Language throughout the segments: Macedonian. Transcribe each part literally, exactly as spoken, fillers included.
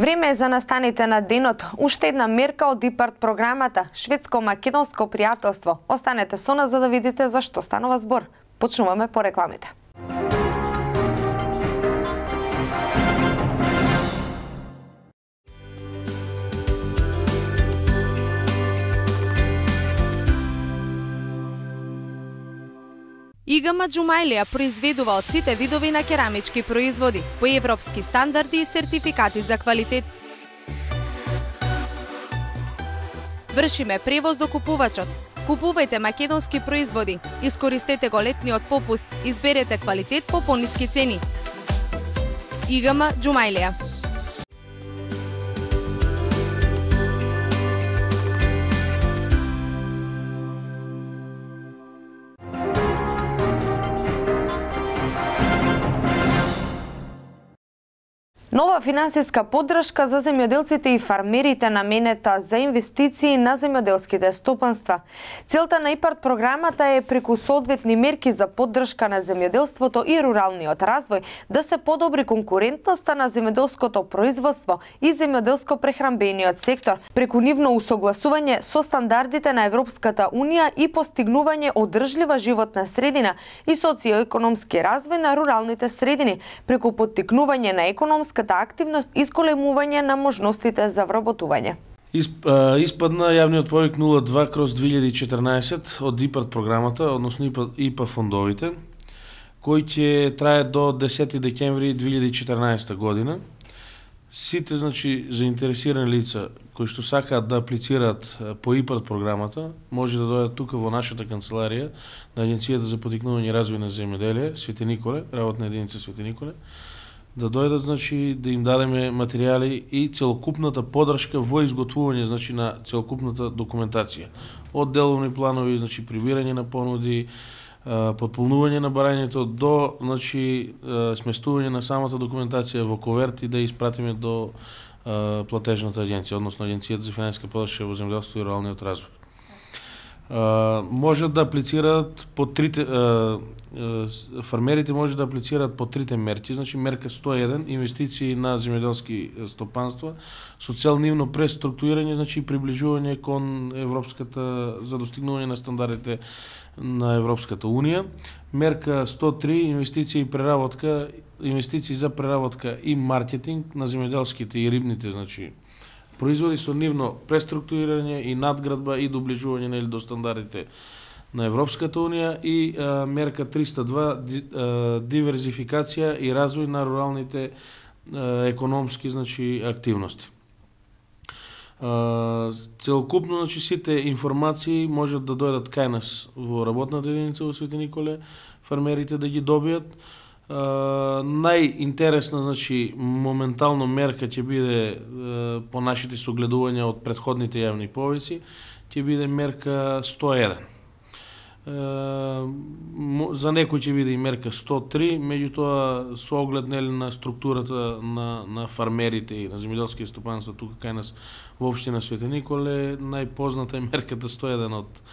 Време е за настаните на денот. Уште една мерка од ИПАРД програмата Шведско-македонско пријателство. Останете со нас за да видите за што станува збор. Почнуваме по рекламите. ИГМ Джумаилија произведува од сите видови на керамички производи по европски стандарди и сертификати за квалитет. Вршиме превоз до купувачот. Купувајте македонски производи, искористете го летниот попуст, изберете квалитет по пониски цени. ИГМ Джумаилија. Нова финансиска поддршка за земјоделците и фармерите наменета за инвестиции на земјоделските стопанства. Целта на ИПАРД програмата е преку соодветни мерки за поддршка на земјоделството и руралниот развој да се подобри конкурентноста на земјоделското производство и земјоделско-прехранбениот сектор, преку нивно усогласување со стандардите на Европската унија и постигнување одржлива животна средина и социоекономски развој на руралните средини, преку поттикнување на економска активност и зголемување на можностите за вработување. Исп, испадна јавниот повик нула два кроз две илјади и четрнаесет од ИПАРД програмата, односно ИПА, ИПА фондовите, кој ќе трае до десети декември две илјади и четрнаесета година. Сите, значи, заинтересирани лица кои што сакаат да аплицираат по ИПАРД програмата, може да дојдат тука во нашата канцеларија на Агенцијата за поттикнување и развој на земјоделие, Свети Николе, работна единица Свети Николе, да дојдат, значи, да им дадеме материјали и целокупната поддршка во изготвување, значи, на целокупната документација. Од деловни планови, значи, прибирање на понуди, потполнување на барањето до, значи, сместување на самата документација во коверти да испратиме до платежната агенција, односно Агенцијата за финансиска поддршка во земјоделството и руралниот развој. Uh, можат да аплицираат по трите uh, uh, фармерите може да аплицираат по трите мерки, значи мерка сто и еден инвестиции на земјоделски стопанства со цел нивно преструктурирање, значи приближување кон европската за достигнување на стандардите на Европската унија. Мерка сто три инвестиции и преработка, инвестиции за преработка и маркетинг на земјоделските и рибните, значи производи со нивно преструктурирање и надградба и доближување до стандардите на Европската унија и а, мерка триста два ди, а, диверзификација и развој на руралните а, економски, значи, активности. А, целокупно, значи, сите информации можат да дојдат кај нас во работната единица во Свети Николе, фармерите да ги добијат. Uh, најинтересна, значи, моментално мерка ќе биде uh, по нашите согледувања од претходните јавни повици, ќе биде мерка сто и еден. Uh, за некој ќе биде и мерка сто три, меѓутоа со оглед, нели, на структурата на, на фармерите и на земјоделски стопанства тука кај нас во општина Свети Николе, најпозната е мерката сто и еден од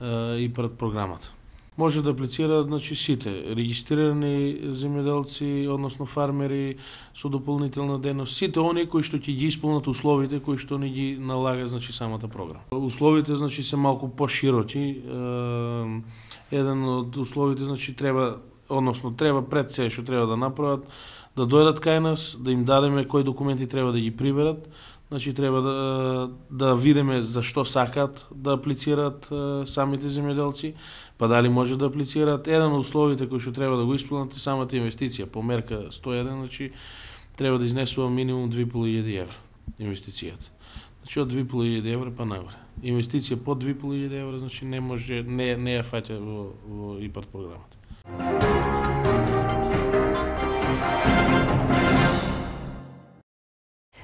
uh, ИПАРД програмата. Може да аплицираат, значи, сите регистрирани земјоделци, односно фармери со дополнителна дејност, сите оние кои што ќе ги исполнат условите кои што ни ги налага, значи, самата програма. Условите, значи, се малку пошироки. Еден од условите, значи, треба, односно треба пред се што треба да направат, да дојдат кај нас, да им дадеме кои документи треба да ги приберат. Значи, треба да, да видиме за што сакаат да аплицираат самите земјоделци, па дали може да аплицираат. Еден од условите кои што треба да го исполнат е самата инвестиција. По мерка сто и еден, значи, треба да изнесува минимум две и пол илјади евра инвестицијата. Значи, од две и пол илјади евра па нагоре. Инвестиција под две и пол илјади евра, значи, не може, не, не ја фаќа во, во ИПАРД програмата.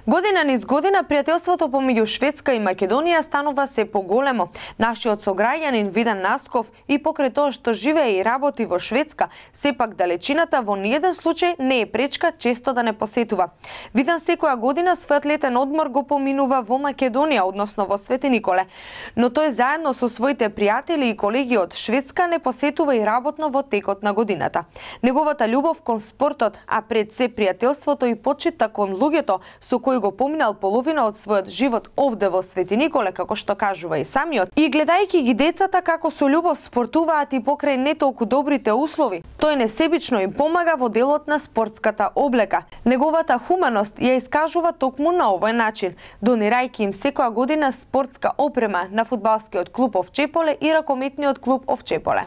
Година низ година пријателството помеѓу Шведска и Македонија станува се поголемо. Нашиот сограѓанин Видан Насков и покрај тоа што живее и работи во Шведска, сепак далечината во ниеден случај не е пречка често да не посетува. Видан секоја година својот летен одмор го поминува во Македонија, односно во Свети Николе, но тој заедно со своите пријатели и колеги од Шведска не посетува и работно во текот на годината. Неговата љубов кон спортот, а пред се пријателството и почита кон луѓето со кои кој го поминал половина од својот живот овде во Свети Николе, како што кажува и самиот, и гледајќи ги децата како со љубов спортуваат и покрај не толку добрите услови, тој несебично им помага во делот на спортската облека. Неговата хуманост ја искажува токму на овој начин, донирајќи им секоја година спортска опрема на фудбалскиот клуб Овчеполе и ракометниот клуб Овчеполе.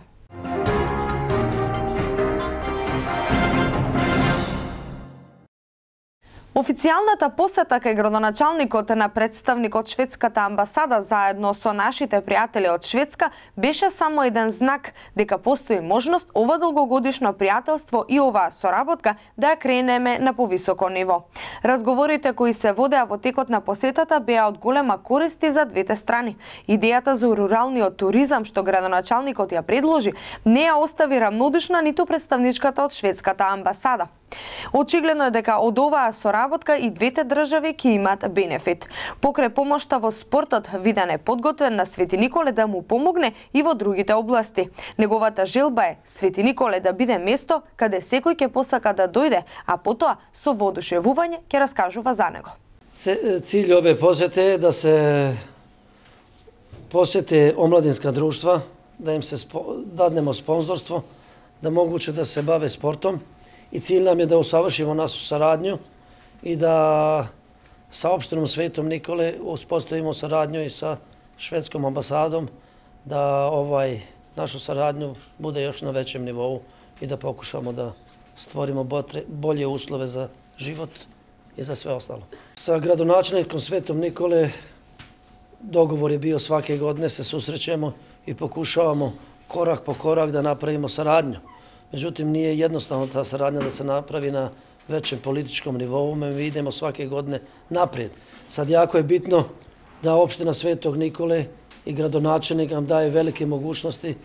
Официјалната посета кај градоначалникот на представникот шведската амбасада заедно со нашите пријатели од Шведска беше само еден знак дека постои можност ова долгогодишно пријателство и оваа соработка да ја кренеме на повисоко ниво. Разговорите кои се водеа во текот на посетата беа од голема корист за двете страни. Идејата за руралниот туризам што градоначалникот ја предложи не ја остави равнодушна ниту представничката од шведската амбасада. Очигледно е дека од оваа соработка и двете држави ќе имаат бенефит. Покрај помошта во спортот, виден е подготвен на Свети Николе да му помогне и во другите области. Неговата желба е Свети Николе да биде место каде секој ќе посака да дојде, а потоа со воодушевување ќе раскажува за него. Cilj ove posete je da se posete omladinska društva, da im se dadnemo sponzorstvo, da moguće da se bave sportom. I cilj nam je da usavršimo našu saradnju i da sa opštinom Svetom Nikole uspostavimo saradnju i sa švedskom ambasadom, da ovaj našu saradnju bude još na većem nivou i da pokušamo da stvorimo bolje uslove za život i za sve ostalo. Sa gradonačelnikom Svetom Nikole dogovor je bio svake godine se susrećemo i pokušavamo korak po korak da napravimo saradnju. Međutim, nije jednostavno ta saradnja da se napravi na većem političkom nivou, mi idemo svake godine naprijed. Sad jako je bitno da opština Svetog Nikole i gradonačelnik nam daje velike mogućnosti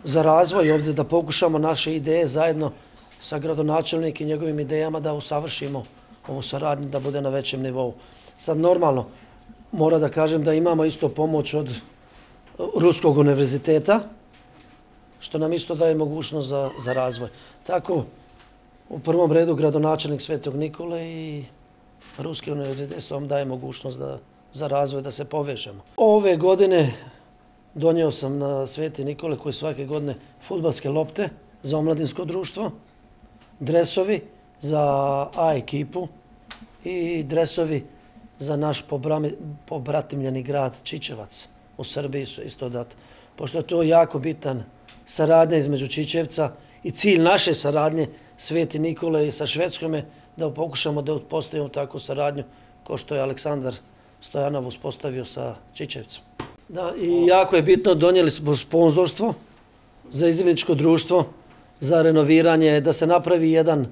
za razvoj ovdje, da pokušamo naše ideje zajedno sa gradonačelnikom i njegovim idejama da usavršimo ovu saradnju, da bude na većem nivou. Sad normalno, mora da kažem da imamo isto pomoć od Ruskog univerziteta, što nam isto daje mogućnost za, za razvoj. Tako, u prvom redu gradonačelnik Svetog Nikole i Ruski univerzitet vam daje mogućnost da, za razvoj, da se povežemo. Ove godine donio sam na Sveti Nikole, koji svake godine fudbalske lopte za omladinsko društvo, dresovi za A ekipu i dresovi za naš pobratimljeni grad Čičevac u Srbiji su isto dat. Pošto je to jako bitan saradnja između Čičevca i cilj naše saradnje Sveti Nikole i sa Švedskom je da pokušamo da uspostavimo takvu saradnju kao što je Aleksandar Stojanov uspostavio sa Čičevcom. Da, i jako je bitno, donijeli smo sponzorstvo za izvidničko društvo, za renoviranje, da se napravi jedan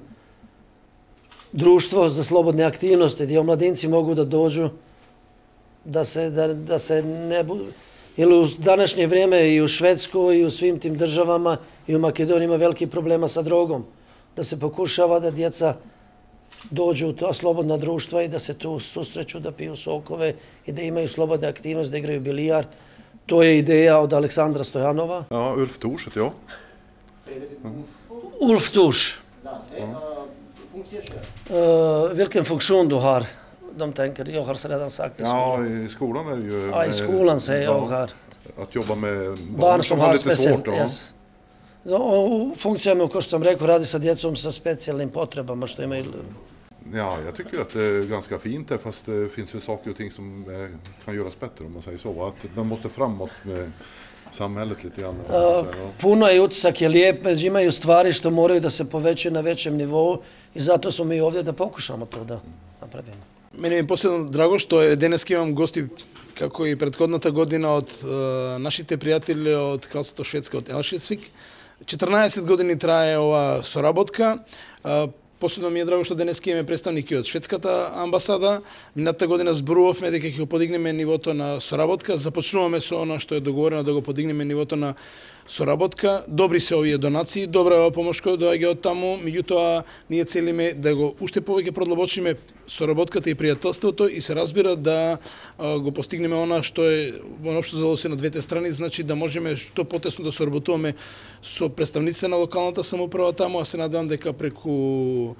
društvo za slobodne aktivnosti gdje omladinci mogu da dođu, da se, da, da se ne budu... Jer u današnje vrijeme i u Švedskoj i u svim tim državama i u Makedoniji ima veliki problema sa drogom. Da se pokušava da djeca dođu u ta slobodna društva i da se tu susreću, da piju sokove i da imaju slobodne aktivnosti, da igraju bilijar. To je ideja od Aleksandra Stojanova. Ja, Ulf Thors heter jag. Ulf Thors. Uh, vilken funktion du har? De tänker, jag har redan sagt i skolan. Ja, i skolan är det ju... Ja, i skolan säger jag här. Att jobba med barn, barn som har lite svårt. Ja. Yes. Funkcija je, kao što sam rekao, radi sa djecom sa specijalnim potrebama što imaju. Ja, jag tycker att det är ganska fint där, fast det finns ju saker och ting som kan göras bättre om man säger så. Att man måste framåt med samhället lite grann. Uh, puno je utisak, je lijep, među imaju stvari što moraju da se povećaju na većem nivou i zato smo mi ovdje da pokušamo to da napravimo. Мене ми е последно драго што е денеска имам гости како и претходната година од е, нашите пријатели од Кралството Шведска од Елшесвик. четрнаесет години трае ова соработка. Е, Последно ми е драго што денеска имаме представники од шведската амбасада. Минатата година зборувавме дека ќе го подигнеме нивото на соработка. Започнуваме со она што е договорено да го подигнеме нивото на соработка. Добри се овие донации, добра е ова помош која доаѓа од таму, меѓутоа ние целиме да го уште повеќе продлабочиме соработката и пријателството и се разбира да а, го постигнеме она што е во општо задоволство на двете страни, значи да можеме што потесно да соработуваме со представниците на локалната самоуправа таму, а се надевам дека преку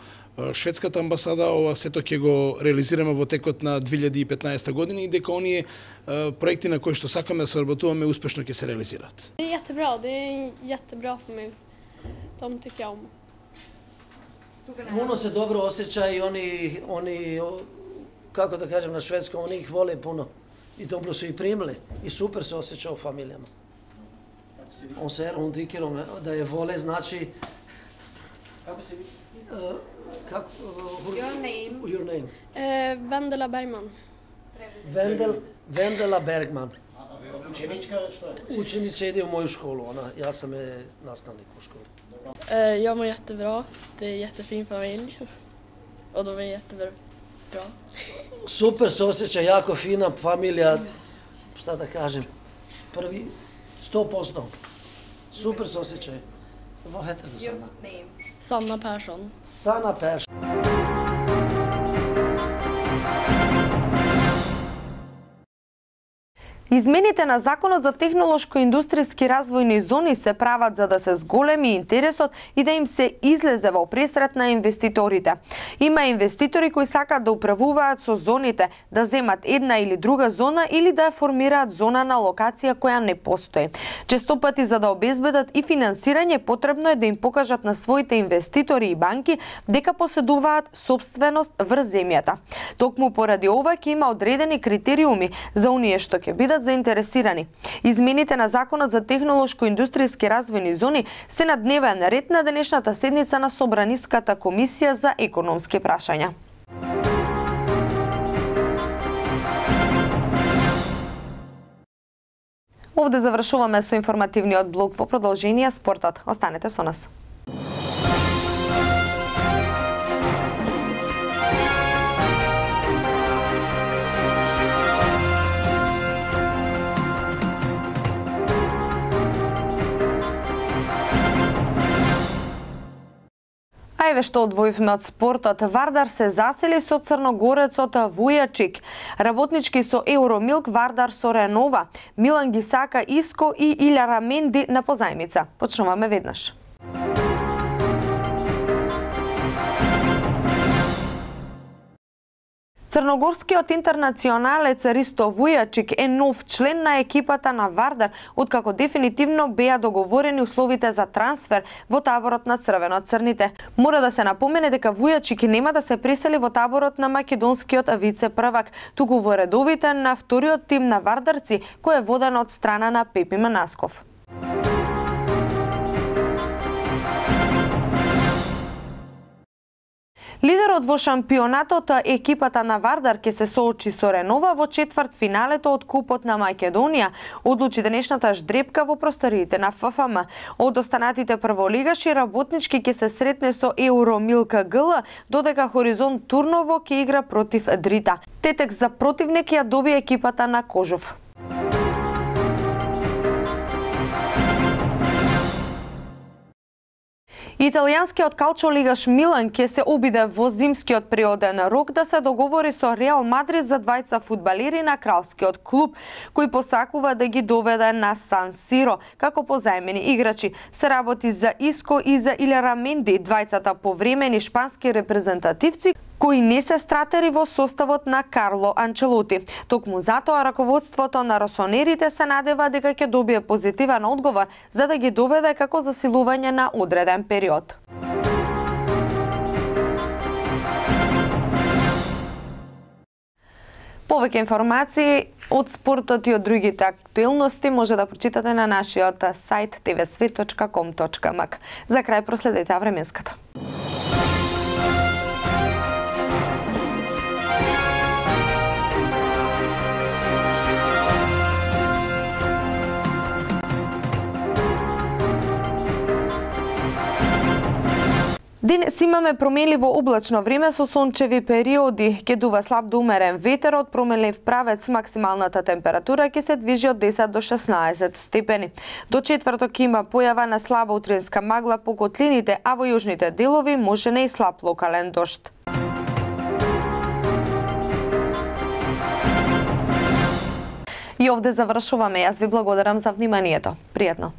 шведската амбасада, ова сето ќе го реализираме во текот на две илјади и петнаесета година и дека оние проекти на кои што сакаме да соработуваме успешно ќе се реализираат. Det är jättebra, det är en jättebra familj. De tycker jag om. Puno se dobro osjeća i oni, oni, kako da kažem na švedskom, oni ih vole puno. I dobro su ih primili. I super se osjeća u familijama. On se hon tycker om da je vole, znači... Kako se uh, kako, uh, Your name? Your name? Eh, Vendela Bergman. Vendel, Vendela Bergman. Učenička što je? Učenica ide u moju školu, ona, ja sam je nastavnik u školi. Eh, jag mår jättebra. Det är en jättefin familj. Och de är jättebra. Super se osjeća, jako fina familija, šta da kažem, prvi, sto posto. Super se osjećaju. Vad heter du, Sanna? Sanna Persson. Sanna Persson. Измените на Законот за технолошко-индустријски развојни зони се прават за да се зголеми интересот и да им се излезе во пресрет на инвеститорите. Има инвеститори кои сакаат да управуваат со зоните, да земат една или друга зона или да ја формираат зона на локација која не постои. Често пати за да обезбедат и финансирање потребно е да им покажат на своите инвеститори и банки дека поседуваат собственост врз земјата. Токму поради ова ќе има одредени критериуми за оние што ќе бидат заинтересирани. Измените на Законот за технолошко-индустријски развојни зони се на дневен ред на денешната седница на Собраниската комисија за економски прашања. Овде завршуваме со информативниот блок, во продолжение спортот. Останете со нас. А еве што одвоивме од спортот. Вардар се засели со црногорецот Вујачик. Работнички со Евромилк, Вардар со Ренова. Милан ги сака Иско и Илјара Менди на позајмица. Почнуваме веднаш. Црногорскиот интернационалец Ристо Вујачик е нов член на екипата на Вардар, откако дефинитивно беа договорени условите за трансфер во таборот на црвено-црните. Мора да се напомене дека Вујачик нема да се пресели во таборот на македонскиот вице-првак, туку во редовите на вториот тим на вардарци, кој е воден од страна на Пепи Манасков. Лидерот во шампионатот, екипата на Вардар ќе се соочи со Ренова во четвртфиналето од Купот на Македонија, одлучи денешната ждрепка во просториите на Ф Ф М. Од останатите прволигаши работнички ќе се сретне со Евромилк Г Л, додека Хоризонт Турново ќе игра против Дрита. Тетек за противник ја доби екипата на Кожов. Италијанскиот калчолигаш Милан ќе се обиде во зимскиот природен рок да се договори со Реал Мадрид за двајца фудбалери на кралскиот клуб, кои посакува да ги доведе на Сан Сиро како позајмени играчи. Се работи за Иско и за Илјара Менди, двајцата повремени шпански репрезентативци кои не се стратери во составот на Карло Анчелоти. Токму затоа раководството на росонерите се надева дека ќе добие позитивен одговор за да ги доведе како засилување на одреден период. Повеќе информации од спортот и од другите актуелности може да прочитате на нашиот сајт те ве свет точка ком точка ем ак. За крај проследете временската. Денес имаме променливо облачно време со сончеви периоди. Ќе дува слаб до умерен ветер од променлив правец. Максималната температура ќе се движи од десет до шеснаесет степени. До четврток ќе има појава на слаба утринска магла по котлините, а во јужните делови може не и слаб локален дожд. И овде завршуваме. Јас ви благодарам за вниманието. Пријатно.